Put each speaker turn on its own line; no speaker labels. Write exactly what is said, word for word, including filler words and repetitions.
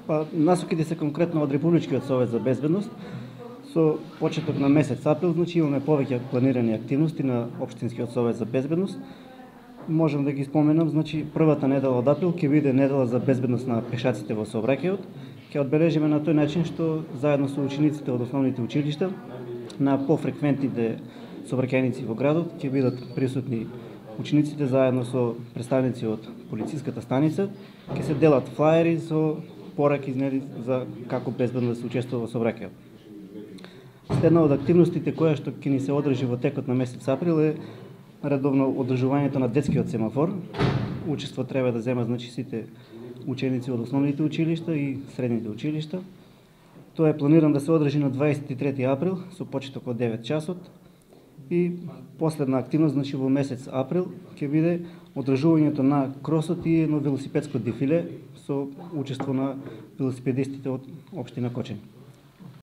Па, насоките се конкретно од Републичкиот совет за безбедност. Со почеток на месец април, значи имаме повеќе планирани активности на Општинскиот совет за безбедност. Можам да ги споменам, значи првата недела од април ќе биде недела за безбедност на пешаците во сообраќајот. Ќе одбележиме на тој начин што заедно со учениците од основните училишта на пофреквентните сообраќајници во градот ќе бидат присутни учениците заедно со представници од полициската станица. Ќе се делат флаери со пораки за како безбедно да се учествува во сообраќајот. Следна од активностите која што ќе ни се одржи во текот на месец април е редовно одржувањето на детскиот семафор. Учество треба да земат значи сите ученици од основните училишта и средните училишта. Тоа е планирано да се одржи на дваесет и трети април со почеток од девет часот. И последна активност значи во месец април ќе биде одржувањето на кросот и едно велосипедско дефиле со учество на велосипедистите од општина Кочани.